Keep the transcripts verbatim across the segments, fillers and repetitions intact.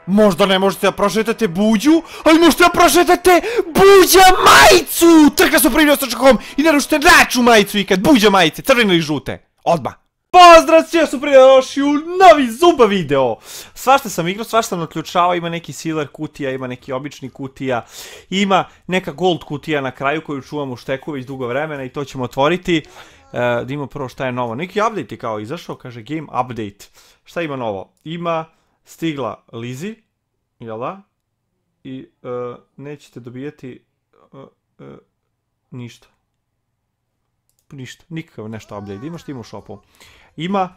Možda ne možete da prošetate Buđu, ali možete da prošetate Buđa majicu! Trka su primio sa čakom i narušite naču majicu ikad Buđa majice, crvene ili žute. Odmah. Pozdrav, svi su prije došli u novi Zumba video. Svašta sam igrao, svašta sam odključavao, ima neki silver kutija, ima neki obični kutija, ima neka gold kutija na kraju koju čuvam u šteku već dugo vremena i to ćemo otvoriti. Da imamo prvo šta je novo. Neki update je kao izašao, kaže game update. Šta ima novo? Ima stigla Lizzy, jel da? I nećete dobijeti ništa. Ništa, nikakav nešto update. Imaš ti ima u shopu. Ima,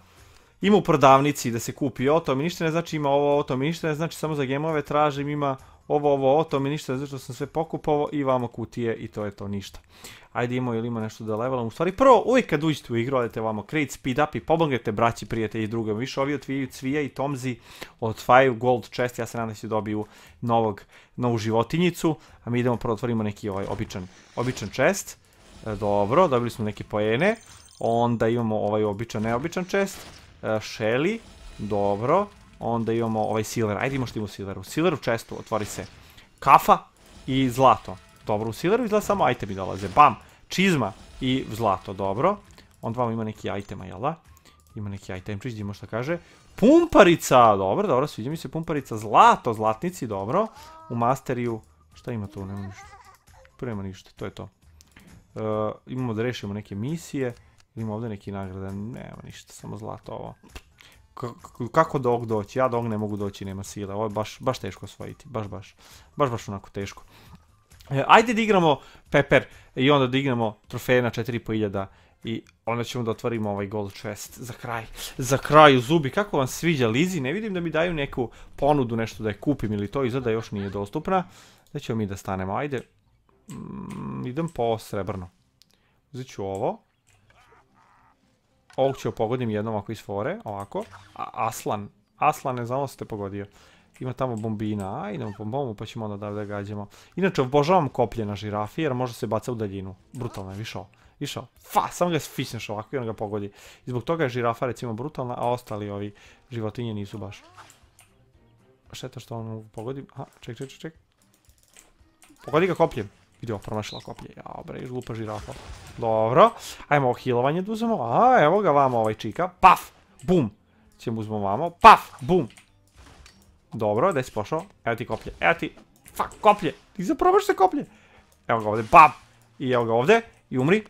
ima u prodavnici da se kupi ovo, to mi ništa ne znači, ima ovo, ovo, to mi ništa ne znači, samo za gemove tražim, ima ovo, ovo, ovo, to mi ništa ne znači, što sam sve pokupovao i vamo kutije i to je to, ništa. Ajde imamo ili ima nešto da levelam, u stvari prvo, uvijek kad uđete u igru, odete vamo create speed up i pomognete braći, prijatelji i drugom, više ovi otvijaju Cvija i Tomzi, otvajaju gold chest, ja se nadam da će dobiju novog, novu životinjicu, a mi idemo prvo otvorimo neki ovaj običan, običan chest. Dobro, dobili smo neke poene. Onda imamo ovaj običan, neobičan chest. Shelly, dobro. Onda imamo ovaj silver, ajde imamo što ima u silveru. U silveru chestu otvori se kafa i zlato. Dobro, u silveru izgleda samo itemi dolaze. Bam, čizma i zlato, dobro. Onda vam ima neki itema, jel da? Ima neki item, vidimo što kaže. Pumparica, dobro, dobro, sviđa mi se pumparica. Zlato, zlatnici, dobro. U masteriju, šta ima tu, nema ništa. Nema ništa, to je to. Uh, imamo da rešimo neke misije. Imamo ovdje neki nagrade. Nema ništa, samo zlato ovo. K kako do ovog doći? Ja do ovog ne mogu doći, nema sile. Ovo je baš, baš teško osvojiti. Baš, baš. Baš, baš onako teško. Uh, ajde da igramo Pepper i onda da igramo trofeje na četiri i po hiljada. I onda ćemo da otvorimo ovaj gold chest. Za kraj. Za kraj u Zubi. Kako vam sviđa Lizzy? Ne vidim da mi daju neku ponudu, nešto da je kupim ili to izgleda još nije dostupna. Da ćemo mi da stanemo. Ajde. Mm, idem po srebrno. Uzet ću ovo. Ovog ću pogodim jednom ovako iz fore. Ovako. A, Aslan. Aslan, ne znamo se te pogodio. Ima tamo bombina. A, idemo po bombu pa ćemo onda da da gađamo. Inače, obožavam koplje na žirafi jer može se baca u daljinu. Brutalno je, višao. Višao. Fa, samo ga sfišneš ovako i on ga pogodi. I zbog toga je žirafa recimo brutalna, a ostali ovi životinje nisu baš. Šteta što on pogodi. Aha, ček, ček, ček. Pogodi ga kopljem. Vidio, promašila koplje. Jao bre, glupa žirafa. Dobro. Ajmo ovo healovanje da uzmemo. A, evo ga vamo ovaj čika. Paf! Bum! Ćemo uzmemo vamo. Paf! Bum! Dobro, gdje si pošao? Evo ti koplje. Evo ti. Fuck, koplje! Ti zaprobaš se koplje. Evo ga ovdje. Bam! I evo ga ovdje. I umri.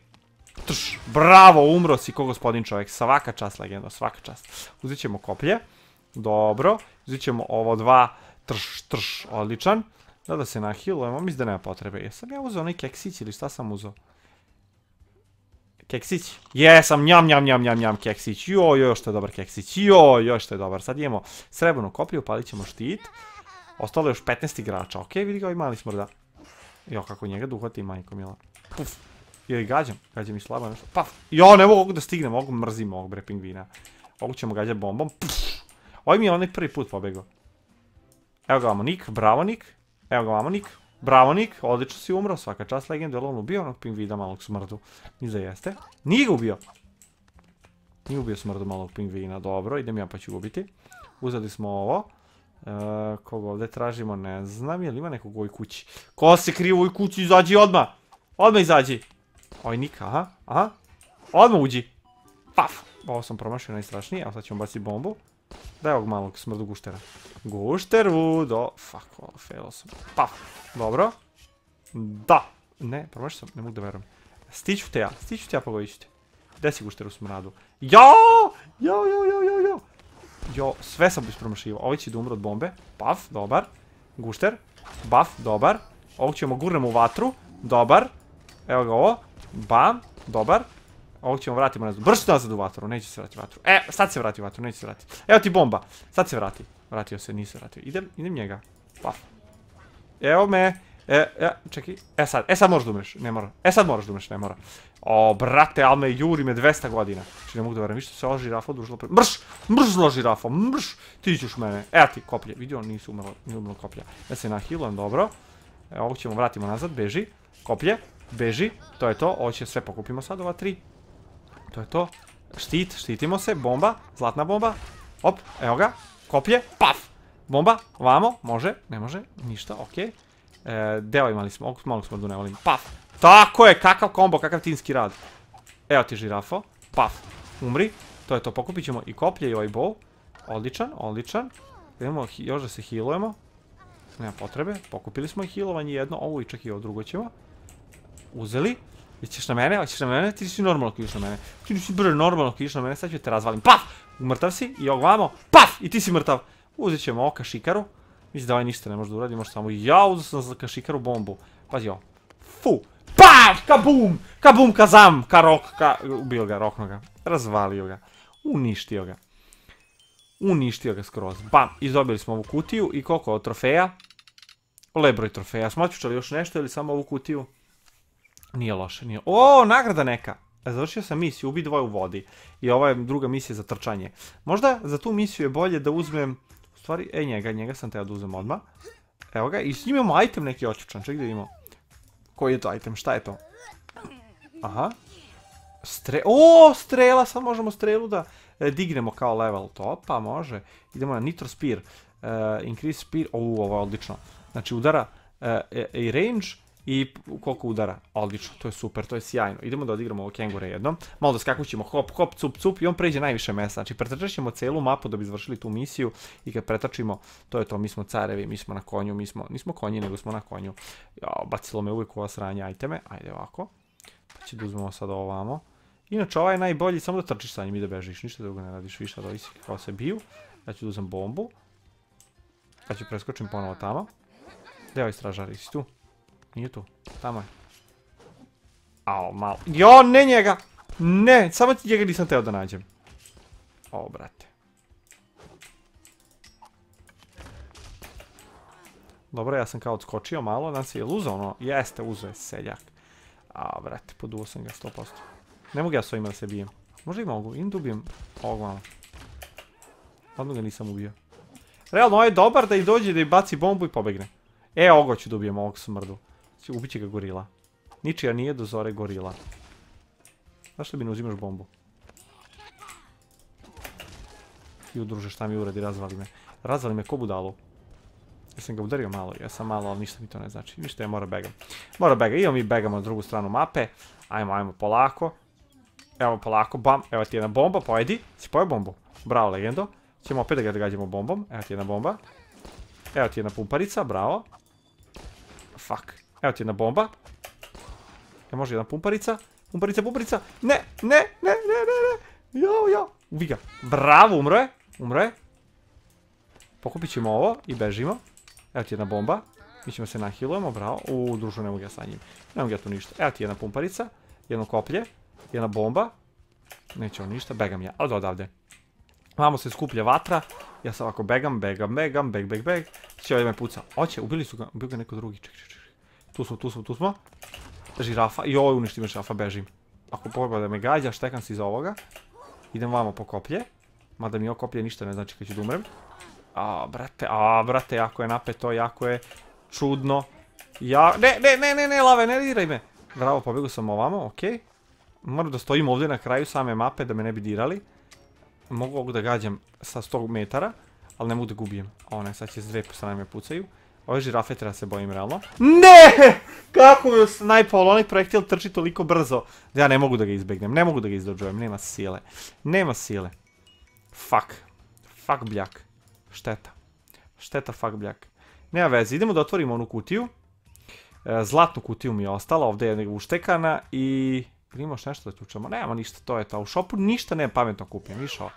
Trš! Bravo, umro si ko gospodin čovjek. Svaka čast, legendo. Svaka čast. Uzet ćemo koplje. Dobro. Uzet ćemo ovo dva. Trš, trš. Odličan. Da da se nahilujemo, mislim da nema potrebe. Jesam ja uzeo onaj keksić ili šta sam uzeo? Keksić? Jesam, njam, njam, njam, njam, njam, keksić. Joj, joj, što je dobar keksić. Joj, joj, što je dobar. Sad imamo srebrnu koplju, palit ćemo štit. Ostalo je još petnaest igrača. Okej, vidi ga ovaj mali smrda. Jo, kako njega da uhvati majko mila. Puf. Ili gađam. Gađam i slabo nešto. Paf. Jo, ne mogu da stignem. Mogu mrzim ovog bre pingvina. Ovog ćemo gađati bombom. Puf. Ovo mi je onaj prvi put pobegao. Evo ga vamo Nik, bravo Nik. Evo ga vamo Nik, bravo Nik, odlično si umro, svaka čast legenda, je on ubio onog pingvina malog smrdu? Niza jeste. Nije ga ubio. Nije ubio smrdu malog pingvina, dobro, idem ja pa ću ubiti. Uzeli smo ovo. E, koga ovdje tražimo, ne znam, je li ima nekog u ovoj kući? Ko se krije u ovoj kući, izađi odmah! Odmah izađi! Oj Nik, aha, aha. Odmah uđi! Paf! Ovo sam promašio najstrašnije, evo sad ćemo baciti bombu. Daj ovog malog smrdu guštera. Gušteru, do... Fuck, ovo, failo sam. Paf, dobro. Da. Ne, promašio sam, ne mogu da verujem. Stiću te ja, stiću te ja, pogodit ću te. Gde si gušter u smradu? Jo! Jo, jo, jo, jo, jo. Jo, sve sam ispromašivao. Ovi će da umre od bombe. Paf, dobar. Gušter. Baf, dobar. Ovog ćemo gurnemo u vatru. Dobar. Evo ga ovo. Bam, dobar. Ovog ćemo vratimo nazad. Brš nazad u vatru, neće se vrati u vatru. E, sad se vrati u vatru, neće se vrati. Evo ti bomba. Sad se vrati. Vratio se, nije se vratio. Idem, idem njega. Paf. Evo me. E, e, čekaj. E sad, e sad moraš da umreš, ne mora. E sad moraš da umreš, ne mora. O, brate, ali me juri me dvesta godina. Znači ne mogu da verujem, viš se ova žirafa odužila pre... Mrš! Mrš zlo žirafa, mrš! Ti ćeš mene. Evo ti koplje, vidio, nisu umrlo, nije umrlo koplja. Ja se nahilujem, dobro. E, ovog ćemo vratimo nazad, beži. Koplje, beži, to je to. Ovo će sve pokupimo sad, ova tri. To je to. Štit, štitimo se, bomba, zlatna bomba. Op, evo ga, koplje, paf! Bomba, ovamo, može, ne može, ništa, okej. Deo imali smo, malo smo da ne volim. Paf! Tako je, kakav kombo, kakav timski rad. Evo ti žirafo. Paf, umri. To je to, pokupit ćemo i koplje i ovaj bow. Odličan, odličan. Idemo još da se healujemo. Nema potrebe, pokupili smo i healovanje jedno. Ovo i čak i ovo drugo ćemo. Uzeli. Ićeš na mene, hoćeš na mene, ti si normalno ako ideš na mene. Ti nisi brže normalno ako ideš na mene, sad ću te razvalim. Paf! Mrtav si i ovamo. Paf! I ti si mrtav. Uzet ćemo ovo kašikaru. Mislim da ovaj ništa ne može da uradi, može samo ja uzet sam za kašikaru bombu. Pazi ovo. Fu! Paf! Kabum! Kabum kazam! Ka rok, ka... Ubio ga, rokno ga. Razvalio ga. Uništio ga. Uništio ga skroz. Bam! Izdobili smo ovu kutiju i koliko od trofeja? Lep broj trofeja. Smo otpučali još nešto ili samo ovu kutiju? Nije loše, nije... O, nagrada neka! Završio sam misiju, ubi dvoje u vodi. I ova je druga misija za trčanje. Možda za tu misiju je bolje da uzmem... U stvari, e njega, njega sam teo da uzmem odmah. Evo ga, i s njim imamo item neki očučan. Ček da vidimo. Koji je to item, šta je to? Aha. Stre... O, strela, sad možemo strelu da e, dignemo kao level. To, pa može. Idemo na Nitro Spear. Uh, increase Spear, o, ovo je odlično. Znači udara e, e, i range. I koliko udara, odlično, to je super, to je sjajno. Idemo da odigramo ovo kengure jednom. Malo da skakućemo, hop, hop, cup, cup i on pređe najviše mesta. Znači pretrčat ćemo celu mapu da bi izvršili tu misiju. I kad pretrčimo, to je to, mi smo carevi, mi smo na konju, mi smo, nismo konji, nego smo na konju. Jao, bacilo me uvijek ova sranja iteme, ajde ovako. Pa će da uzmemo sad ovamo. Inače ovaj je najbolji, samo da trčiš sa njim i da bežiš, ništa drugo ne radiš, više da ovisi kao se biju. Ja ću da uzmem bombu. Pa ću preskočim ponovo tamo. Gdje je ovaj stražar, isi tu? Nije tu, tamo je. Ao, malo. Jo, ne njega! Ne, samo njega nisam teo da nađem. O, brate. Dobro, ja sam kao odskočio malo, nam se je uzao ono, jeste, uzao je seljak. A, brate, poduo sam ga sto posto. Ne mogu ja s ovima da se bijem. Možda i mogu, im da ubijem ovog malo. Odmah ga nisam ubio. Realno, ovo je dobar da i dođe da i baci bombu i pobegne. E, ovoga ću da ubijem, ovog smrdu. Ubit će ga gorila. Ničija nije do zore gorila. Zašto bi ne uzimaš bombu? I udruže šta mi uradi, razvali me. Razvali me ko budalu. Ja sam ga udario malo, ja sam malo, ali ništa mi to ne znači. Ništa je, mora begam. Mora begam, idemo mi begamo na drugu stranu mape. Ajmo, ajmo, polako. Evo polako, bam, evo ti jedna bomba, pojedi. Si pojeo bombu? Bravo, legendo. Ćemo opet da ga gađamo bombom. Evo ti jedna bomba. Evo ti jedna pumparica, bravo. Fuck. Evo ti jedna bomba. E, može jedna pumparica. Pumparica, pumparica. Ne, ne, ne, ne, ne, ne. Jo, jo. Ubi ga. Bravo, umro je. Umro je. Pokupit ćemo ovo i bežimo. Evo ti jedna bomba. Mi ćemo se nahilujemo, bravo. Uuu, družu, ne mogu ja sa njim. Ne mogu ja tu ništa. Evo ti jedna pumparica. Jedno koplje. Jedna bomba. Neće on ništa. Begam ja. Od odavde. Vamo se skuplja vatra. Ja sam ovako begam, begam, begam, beg, beg, beg. Će ovaj me puca. Oće, ubili su ga. Ubili ga neko drugi. Ček, ček, ček. Tu smo, tu smo, tu smo. Žirafa. I ovo uništi me žirafa, bežim. Ako pogleda da me gađa, štekam se iza ovoga. Idem vamo po koplje. Mada mi ovo koplje ništa ne znači kad ću da umrem. A, brate, a, brate, jako je napeto, jako je čudno. Ja, ne, ne, ne, ne, ne, lave, ne diraj me. Bravo, pobjegu sam ovamo, okej. Moram da stojim ovdje na kraju same mape da me ne bi dirali. Mogu ovog da gađam sa sto metara, ali ne mogu da gubijem. O ne, sad će s dve strane me pucaju. Ove žirafe treba se bojim realno. Ne! Kako mi snajpao, onaj projektil trči toliko brzo da ja ne mogu da ga izbegnem, ne mogu da ga izdođujem, nema sile. Nema sile. Fuck. Fuck bljak. Šteta. Šteta fuck bljak. Nema veze, idemo da otvorimo onu kutiju. Zlatnu kutiju mi je ostala, ovdje je uštekana i... Imamo još nešto da tučemo, nemamo ništa, to je to. U shopu ništa ne pametno kupim, višao.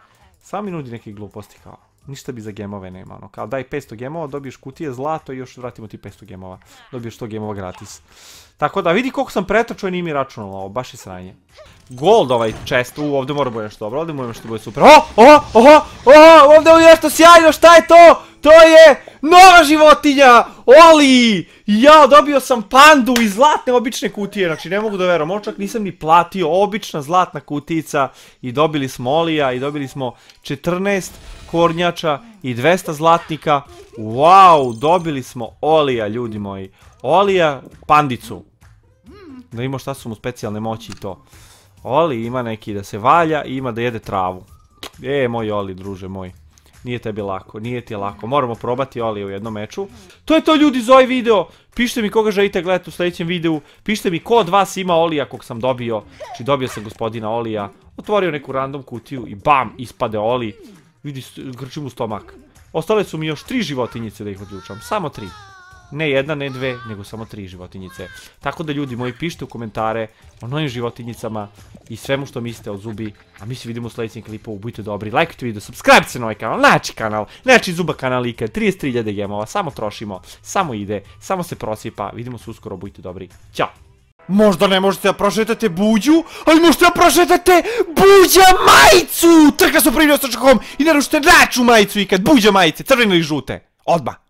Samo mi nudi neke gluposti kao. Ništa bi za gemove nema, ono, kao daj petsto gemova, dobiješ kutije zlato i još vratimo ti petsto gemova. Dobiješ sto gemova gratis. Tako da vidi koliko sam pretočio i nije mi računalo ovo, baš je sranje. Gold ovaj chest, u, ovdje mora bude nešto dobro, ovdje mora nešto bude super. O, o, o, o, ovdje je nešto sjajno, šta je to? To je nova životinja, Oli! Ja, dobio sam pandu iz zlatne obične kutije, znači ne mogu da verujem, ovo čak nisam ni platio, obična zlatna kutica i dobili smo Olija i dobili smo četrnaest kornjača i dvesta zlatnika. Wow, dobili smo Olija, ljudi moji. Olija, pandicu. Da imamo šta su mu specijalne moći i to. Oli ima neki da se valja i ima da jede travu. E, moj Oli, druže moj. Nije tebi lako, nije ti lako. Moramo probati Olija u jednom meču. To je to ljudi za ovaj video. Pišite mi koga želite gledati u sljedećem videu. Pišite mi ko od vas ima Olija kog sam dobio. Znači dobio sam gospodina Olija. Otvorio neku random kutiju i bam, ispade Oli. Vidi, grčim u stomak. Ostale su mi još tri životinjice da ih odlučam. Samo tri. Ne jedna, ne dve, nego samo tri životinjice. Tako da ljudi moji, pišite u komentare o novim životinjicama i svemu što mislite o Zubi. A mi se vidimo u sljedećem klipu. Budite dobri, lajkujte video, subscribe se na ovaj kanal, naći kanal, naći Zuba kanal Ike, trideset tri hiljade gemova, samo trošimo, samo ide, samo se prosipa. Vidimo se uskoro, budite dobri. Ćao! Možda ne možete da prošetate Buđu, ali možete da prošetate Buđa majicu! Trkla su primio sa čakom i naručite naču majicu ikad, Buđa majice, crvene ili žute. Odmah!